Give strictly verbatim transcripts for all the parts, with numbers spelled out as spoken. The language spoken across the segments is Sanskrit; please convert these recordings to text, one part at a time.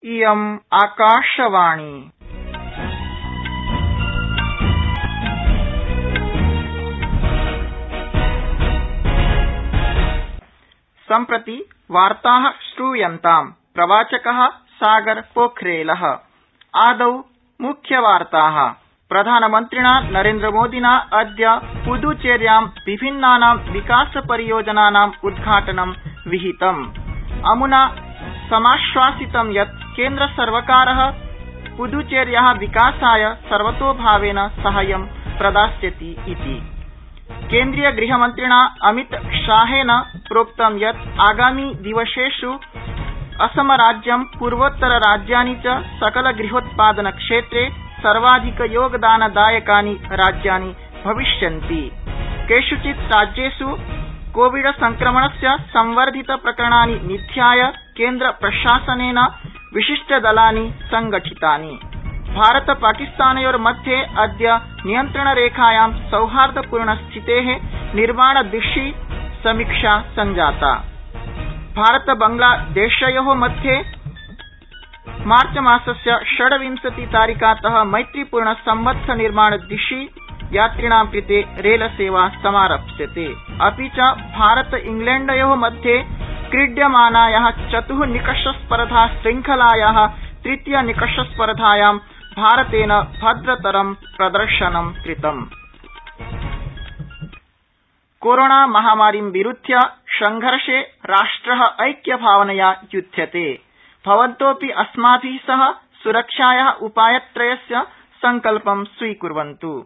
इयम् आकाशवाणी। सम्प्रति वार्ताः श्रूयन्ताम्। प्रवाचकः सागर पोखरेल। आदौ मुख्यवार्ताः। प्रधानमन्त्रिणा नरेन्द्रमोदिना अद्य पुदुचेर्यां विभिन्नानां विकासपरियोजनानाम् उद्घाटनं विहितम्। अमुना समाश्वासितं यत् केन्द्रसर्वकारः पुदुचेर्याः विकासाय सर्वतोभावेन साहाय्यं प्रदास्यति इति। केन्द्रीय गृहमन्त्रिणा अमितशाहेन प्रोक्तं यत् आगामि दिवसेषु असमराज्यं पूर्वोत्तरराज्यानि च सकलगृहोत्पादनक्षेत्रे सर्वाधिकयोगदानदायकानि राज्यानि भविष्यन्ति। केषुचित् राज्येषु कोविड संक्रमणस्य संवर्धितप्रकरणानि निध्याय केन्द्रप्रशासनेन विशिष्टदलानि संगठितानि। भारत पाकिस्तानयोर्मध्ये अद्य नियन्त्रणरेखायां सौहार्दपूर्णस्थितेः निर्माणदिशि समीक्षा संजाता। भारत बांग्लादेशयोः मध्ये मार्चमासस्य षड्विंशतितारिकातः मैत्रीपूर्णसम्बद्धनिर्माणदिशि यात्रिणां कृते रेलसेवा समारप्स्यते। अपि च भारत इंग्लैण्डयोः मध्ये क्रीड्यमानायाः चतुः निकषस्पर्धा श्रृंखलायाः तृतीयनिकषस्पर्धायां भारतेन भद्रतरं प्रदर्शनं कृतम्। कोरोना महामारीं विरुध्य संघर्षे राष्ट्रः ऐक्यभावनया युध्यते। भवन्तोऽपि अस्माभिः सह सुरक्षायाः उपायत्रयस्य संकल्पं स्वीकुर्वन्तु।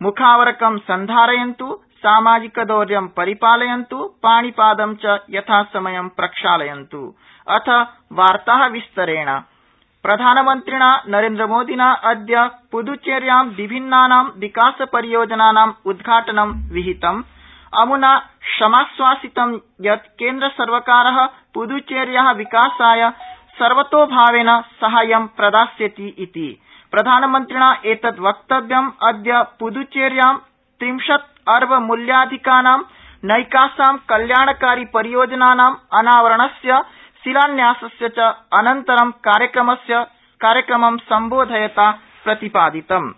मुखावरकं सन्धारयन्तु, सामाजिकदौर्यं परिपालयन्तु, पाणिपादं च यथासमयं प्रक्षालयन्तु। अथ वार्ताः विस्तरेण। प्रधानमन्त्रिणा नरेन्द्रमोदिना अद्य पुदुचेर्यां विभिन्नानां विकासपरियोजनानाम् उद्घाटनं विहितम्। अमुना समाश्वासितं यत् केन्द्रसर्वकारः पुदुचेर्याः विकासाय सर्वतोभावेन साहाय्यं प्रदास्यति इति। प्रधानमन्त्रिणा एतत् वक्तव्यम् अद्य पुदुचेर्यां त्रिंशत् अर्ब मूल्याधिकानां नैकासां कल्याणकारि परियोजनानाम् अनावरणस्य शिलान्यासस्य च अनन्तरं कार्यक्रमं सम्बोधयता प्रतिपादितम्।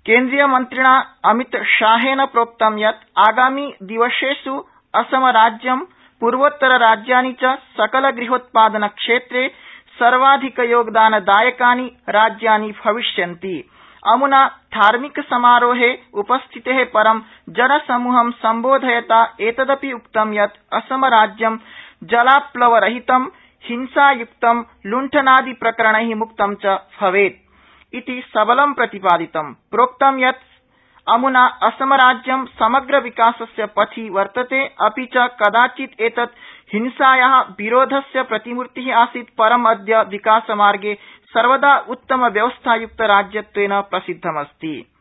केन्द्रीयमन्त्रिणा अमितशाहेन प्रोक्तं यत् आगामि दिवसेषु असमराज्यं पूर्वोत्तरराज्यानि च सकलगृहोत्पादनक्षेत्रे सर्वाधिकयोगदानदायकानि राज्यानि भविष्यन्ति। अमुना धार्मिकसमारोहे उपस्थितेः परं जनसमूहं सम्बोधयता एतदपि उक्तं यत् असमराज्यं जलाप्लवरहितं, हिंसायुक्तं, लुण्ठनादिप्रकरणैः मुक्तं च भवेत् इति सबलं प्रतिपादितम्। प्रोक्तं यत् अमुना असमराज्यं समग्रविकासस्य पथि वर्तते, अपि च कदाचित् एतत् हिंसायाः विरोधस्य प्रतिमूर्तिः आसीत्, परम् अद्य विकासमार्गे सर्वदा उत्तमव्यवस्थायुक्तराज्यत्वेन प्रसिद्धमस्ति।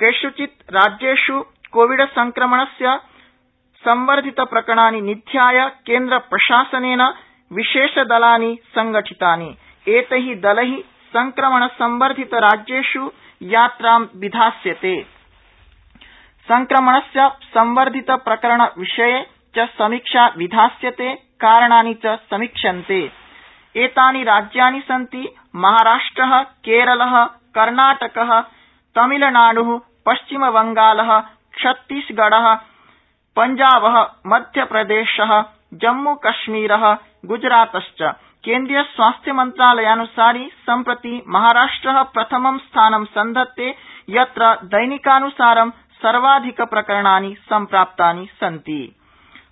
केषुचित् राज्येषु कोविड संक्रमणस्य संवर्धितप्रकरणानि निध्याय केन्द्रप्रशासनेन विशेषदलानि संगठितानि। एतैः दलैः संक्रमणसंवर्धितराज्येषु यात्रां विधास्यते। संक्रमणस्य संवर्धितप्रकरणविषये च समीक्षा विधास्यते, कारणानि च समीक्ष्यन्ते। एतानि राज्यानि सन्ति महाराष्ट्रः, केरलः, कर्णाटकः, तमिलनाडुः, पश्चिमबंगालः, छत्तीसगढ़ः, पंजाबः, मध्यप्रदेशः, जम्मूकश्मीरः, गुजरातश्च। केन्द्रीय स्वास्थ्य मन्त्रालयानुसारि सम्प्रति महाराष्ट्रः प्रथमं स्थानं सन्धत्ते, यत्र दैनिकानुसारं सर्वाधिकप्रकरणानि सम्प्राप्तानि सन्ति।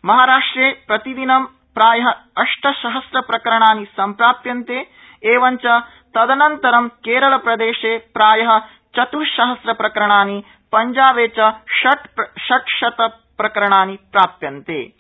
महाराष्ट्रे प्रतिदिनं प्रायः अष्टसहस्रप्रकरणानि सम्प्राप्यन्ते। एवञ्च तदनन्तरं केरलप्रदेशे प्रायः चतुस्सहस्रप्रकरणानि, पंजाबे च षट्शतप्रकरणानि प्राप्यन्ते।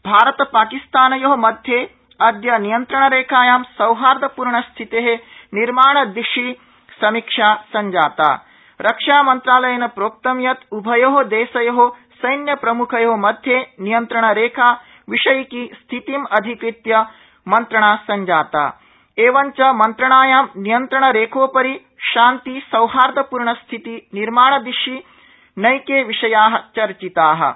भारत पाकिस्तानयोः मध्ये अद्य नियन्त्रणरेखायां सौहार्दपूर्णस्थितेः निर्माणदिशि समीक्षा संजाता। रक्षामन्त्रालयेन प्रोक्तं यत् उभयोः देशयोः सैन्यप्रमुखयोः मध्ये नियन्त्रणरेखा विषयिकी स्थितिम् अधिकृत्य मन्त्रणा संजाता। एवञ्च मन्त्रणायां नियन्त्रणरेखोपरि शान्ति सौहार्दपूर्णस्थिति निर्माणदिशि नैके विषयाः चर्चिताः।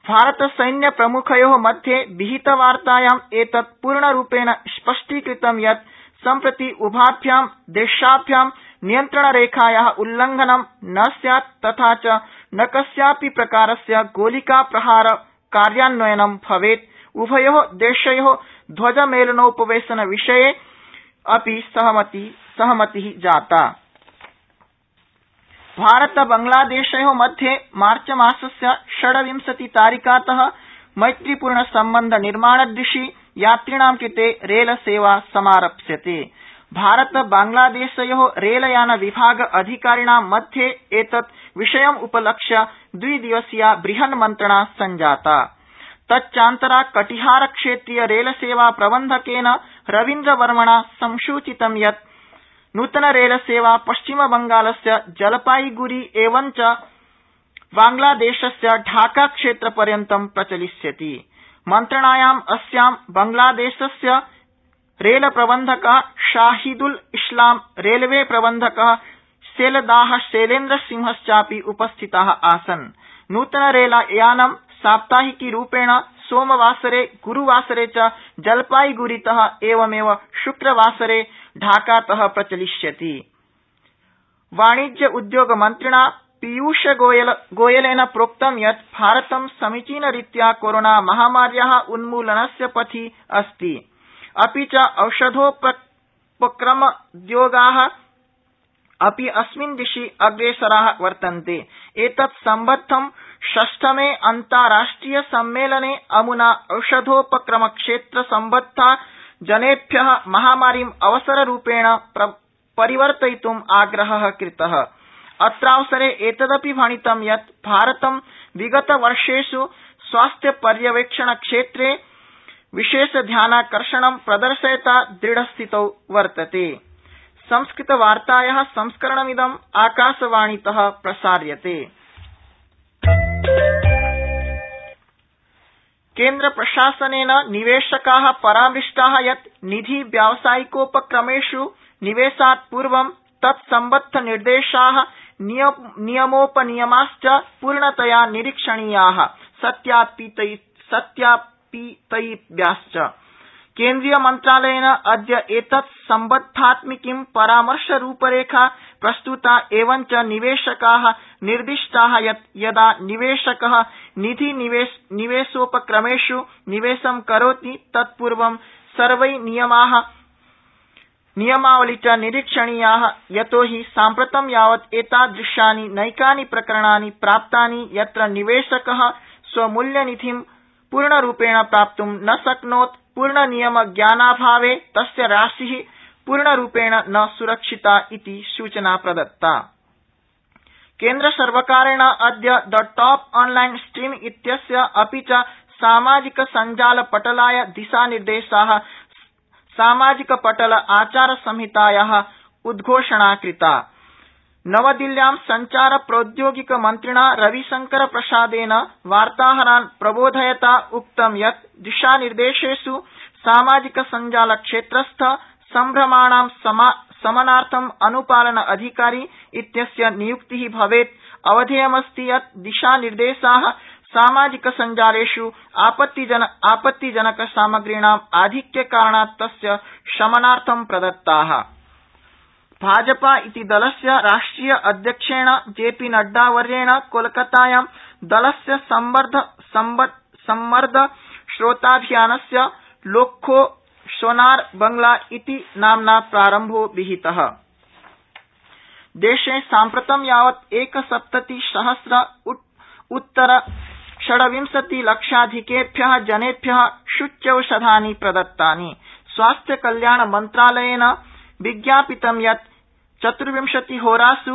भारतसैन्यप्रमुखयो मध्ये विहितवार्तायां एतत् पूर्णरूपेण स्पष्टीकृतं यत् सम्प्रति उभाभ्यां देशाभ्यां नियन्त्रणरेखाया उल्लंघनं न स्यात् तथा च न कस्यापि प्रकारस्य गोलिकाप्रहार कार्यान्वयनं भवेत्। उभयो देशयो ध्वजमेलनोपवेशनविषये अपि सहमति जाता। भारत बांग्लादेशयो मध्ये मार्चमासस्य षड्विंशतितारिकात मैत्रीपूर्ण सम्बन्ध निर्माणदिशि यात्रिणां कृते रेलसेवा समारप्स्यते। भारत बांग्लादेशयो रेलयान विभाग अधिकारिणां मध्ये एतत् विषयम् उपलक्ष्य द्विदिवसीया बृहन्मन्त्रणा सञ्जाता। तच्चान्तरा कटिहार क्षेत्रीय रेलसेवा प्रबन्धकेन रवीन्द्रवर्मणा संसूचितं यत् नूतन रेलसेवा पश्चिमबंगालस्य जलपाईगुड़ी एवञ्च बांग्लादेशस्य ढाका क्षेत्रपर्यन्तं प्रचलिष्यति। मन्त्रणायाम् अस्यां बांग्लादेशस्य रेलप्रबन्धक शाहिदुल इस्लाम रेलवे प्रबन्धक सेलदाह शैलेन्द्रसिंहश्चापि उपस्थिता आसन्। नूतन रेलयानं साप्ताहिकीरूपेण सोमवासरे गुरूवासरे च जलपाईगुड़ीत एवमेव शुक्रवासरे ढाकात प्रचलिष्यति। वाणिज्य उद्योग मन्त्रिणा पीयूष गोयलेन प्रोक्तं यत् भारतं समीचीनरीत्या कोरोना महामार्या उन्मूलनस्य पथि अस्ति, अपि च औषधोपक्रमोद्योगा अपि अस्मिन् दिशि अग्रेसरा वर्तन्ते। एतत् सम्बद्धं षष्ठमे अन्ताराष्ट्रिय सम्मेलने अमुना औषधोपक्रमक्षेत्र सम्बद्धा जनेभ्य महामारीम् अवसररूपेण परिवर्तयितुम् आग्रह कृत। अत्रावसरे एतदपि भणितं यत् भारतं विगतवर्षेष् स्वास्थ्यपर्यवेक्षणक्षेत्रे विशेषध्यानाकर्षणं प्रदर्शयता दृढस्थितौ वर्तते। संस्कृतवार्ताया संस्करणमिदं आकाशवाणीत प्रसार्यते। केन्द्रप्रशासनेन निवेशका परामृष्टा यत् निधि व्यावसायिकोपक्रमेष् निवेशात् पूर्वं तत्सम्बद्धनिर्देशा नियमोपनियमाश्च पूर्णतया निरीक्षणीया सत्यापितव्याश्च। केन्द्रीयमन्त्रालयेन अद्य एतत् सम्बद्धात्मिकीं परामर्शरूपरेखा प्रस्तुता एवञ्च निवेशका निर्दिष्टा यत् यदा निवेशक निधि निवेशोपक्रमेष् निवेशं करोति तत्पूर्वं सर्वै नियमा नियमावली च निरीक्षणीया यतो हि साम्प्रतं यावत् एतादृशानि नैकानि प्रकरणानि प्राप्तानि यत्र निवेशक स्वमूल्यनिधिं पूर्णरूपेण प्राप्तुं न शक्नोत्। पूर्णनियमज्ञानाभावे तस्य राशि पूर्णरूपेण न सुरक्षिता इति सूचना प्रदत्ता। केन्द्रसर्वकारेण अद्य द टॉप ऑनलाइन स्ट्रीम इत्यस्य अपि च सामाजिकसञ्जालपटलाय दिशानिर्देशा सामाजिकपटल आचारसंहिताया उद्घोषणा कृता। नवदिल्ल्यां संचार प्रौद्योगिक मन्त्रिणा रविशंकरप्रसादेन वार्ताहरान् प्रबोधयता उक्तं यत् दिशानिर्देशेष् सामाजिकसञ्जालक्षेत्रस्थ सम्भ्रमाणां शमनार्थं अनुपालन अधिकारी इत्यस्य नियुक्ति भवेत्। अवधेयमस्ति यत् दिशानिर्देशा सामाजिकसञ्जालेष् आपत्तिजन आपत्तिजनकसामग्रीणाम् आधिक्यकारणात् तस्य शमनार्थं प्रदत्ता। भाजपा इति दलस्य राष्ट्रिय अध्यक्षेण जेपी नड्डावर्येण कोलकातायां दलस्य सम्मर्द श्रोताभियानस्य लोक्खो सोनार बंगला इति नाम्ना प्रारम्भो विहितः। देशे साम्प्रतं यावत् एकसप्तति सहस्र उत्तर षड्विंशति लक्षाधिकेभ्य जनेभ्य सूच्यौषधानि प्रदत्तानि। स्वास्थ्यकल्याण मन्त्रालयेन विज्ञापितं यत् चतुर्विंशतिहोरास्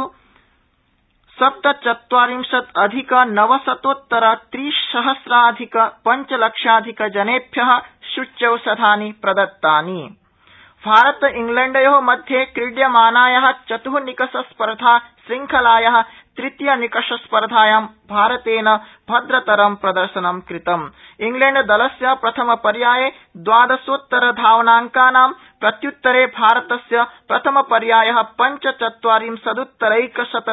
सप्तचत्वारिंशत् अधिक नवशतोत्तर त्रिसहस्राधिक पञ्चलक्षाधिक जनेभ्य सूच्यौषधानि प्रदत्तानि। भारत इंग्लैण्डयो मध्ये क्रीड्यमानाया चतुर्निकषस्पर्धा श्रृंखलाया तृतीयनिकषस्पर्धायां भारतेन भद्रतरं प्रदर्शनं कृतम्। इंग्लैण्डदलस्य प्रथमपर्याये द्वादशोत्तरधावनांकानां प्रत्युत्तरे भारतस्य प्रथमपर्याय पञ्चचत्वारिंशदुत्तरैकशत